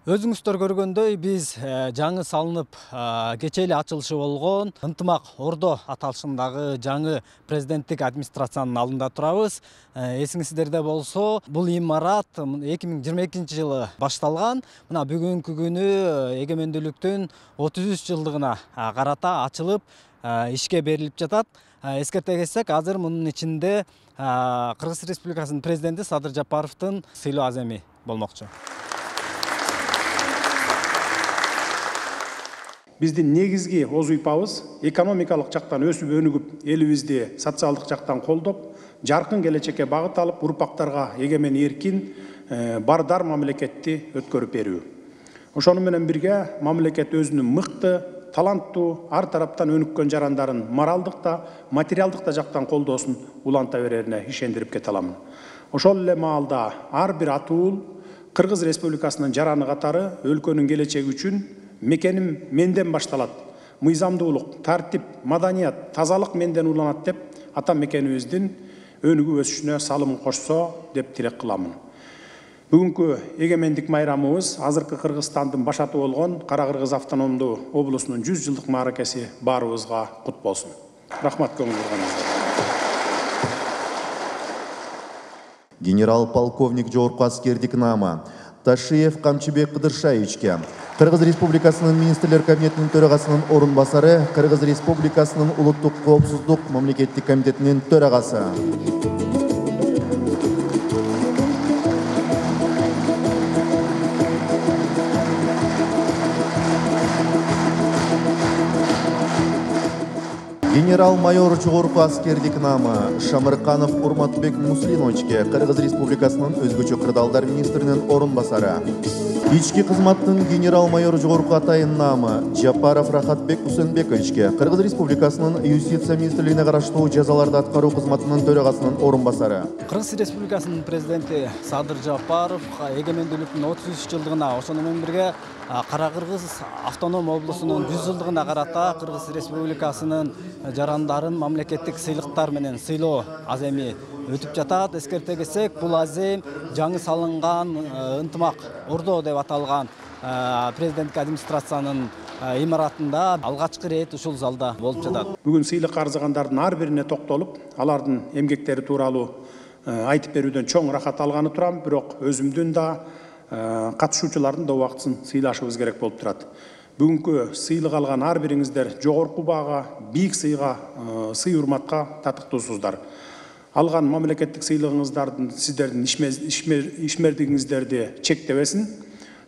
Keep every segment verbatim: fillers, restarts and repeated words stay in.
Өзүңүздөр көргөндөй биз жаңы салынып кечээ эле ачылышы болгон Ынтымак Ордо аталышындагы жаңы президенттик администрациянын алдында турабыз. Эсиңиздерде болсо, бул имарат эки миң жыйырма экинчи жылы башталган. Мына бүгүнкү күнү эгемендүүлүктүн отуз үч жылдыгына карата ачылып ишке берилип жатат. Эскерте кетсек, азыр мунун ичинде Кыргыз Республикасынын президенти Садыр Жапаровдун сыйлоо аземи болмокчу. Биздин негизги оз уйпабыз экономикалык жактан өсүп өнүгүп, элибизди социалдык жактан колдоп, жаркын келечекке багыт алып, урпактарга эгемен эркин, бардар мамлекетти өткөрүп берүү. Ошону менен бирге мамлекет өзүнүн мыкты, таланттуу, ар тараптан өнүккөн жарандарын моралдык да, материалдык да жактан колдоосун уланта берерине ишендирип кете аламын. Ошол эле маалда ар бир атуул Кыргыз Республикасынын жараны катары өлкөнүн келечеги үчүн мекеним менден башталат, мыйзамдуулук, тартип, маданият, тазалык менден уланат деп ата мекенибиздин өнүгүп өсүшүнө салым кошсо деп тилек кыламын. Бүгүнкү эгемендик майрамыбыз азыркы Кыргызстандын башаты болгон Кара Кыргыз автономдуу облусунун жүз жылдык мааракеси баарыбызга кут болсун. Рахмат көңүл бурганыңызга. Генерал-полковник жогорку аскердик наама Ташиев Камчыбек Кыдыршаевичке, Кыргыз Республикасынын министрлер кабинетинин төрагасынын орун басары, Кыргыз Республикасынын улуттук коопсуздук мамлекеттик комитетинин төрагасы. Генерал-майор жогорку аскердик наама Шамырканов Урматбек Муслимовичке, Кыргыз Республикасынын өзгөчө кырдаалдар министринин орун басары. Ички кызматтын генерал-майор жогорку атайын наамы Жапаров Рахатбек Усенбековичке, Кыргыз Республикасынын юстиция министрлигине караштуу жазаларды аткаруу кызматынын төрагасынын орун басары. Кыргыз Республикасынын президенти Садыр Жапаров эгемендүүлүктүн отуз үч жылдыгына, ошону менен бирге Кара Кыргыз автоном облусунун жүз жылдыгына карата Кыргыз Республикасынын жарандарын мамлекеттик сыйлыктар менен сыйлоо аземи өтүп жатат. Эскерте кетсек, бул азем жаңы салынган Ынтымак Ордо деп аталган президенттик администрациянын имаратында алгачкы ирет ушул залда болуп жатат. Бүгүн сыйлык арзыгандардын ар бирине токтолуп, алардын эмгектери тууралуу айтып берүүдөн чоң рахат алганы турам, бирок өзүмдүн да катышуучулардын да убактысын сыйлашыбыз керек болуп турат. Бүгүнкү сыйлык алган ар бириңиздер жогорку баага, бийик сыйга, сый урматка татыктуусуздар. Алган мамлекеттик сыйлыгыңыздардын сиздердин ишмердигиңиздерди чектебесин,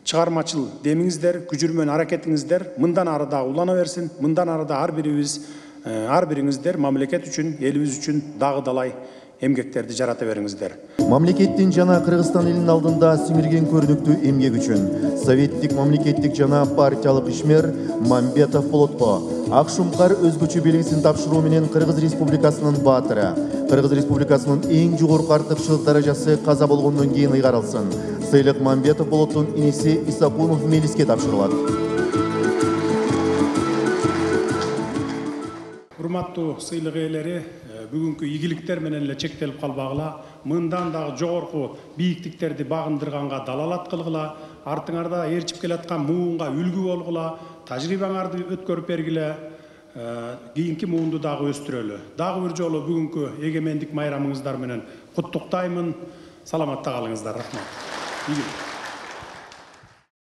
чыгармачыл демиңиздер, күжүрмөн аракетиңиздер мындан ары да улана берсин, мындан ары да ар бирибиз, ар бириңиздер мамлекет үчүн, элибиз үчүн дагы далай эмгектерди жарата бериңиздер. Мамлекеттин жана Кыргызстан элинин алдында сиңирген көрүнүктүү эмгек үчүн советтик мамлекеттик жана партиялык ишмер Мамбетов Болотко ак шумкар өзгөчө белгисин тапшыруу менен Кыргыз Республикасынын баатыры, Кыргыз Республикасынын эң жогорку артыкчылык даражасы каза болгондон кийин ыйгарылсын. Сыйлык Мамбетов Болоттун иниси Исакунов Мелиске тапшырылат. Урматтуу сыйлык ээлери, бүгүнкү ийгиликтер менен эле чектелип калбагыла, мындан дагы жогорку бийиктиктерди багындырганга далалат кылгыла, артыңарда ээрчип келаткан муунга үлгү болгула, тажрыйбаңарды өткөрүп бергиле, кийинки муунду дагы өстүрөлү. Дагы бир жолу бүгүнкү эгемендик майрамыңыздар менен куттуктаймын. Саламатта калыңыздар. Рахмат.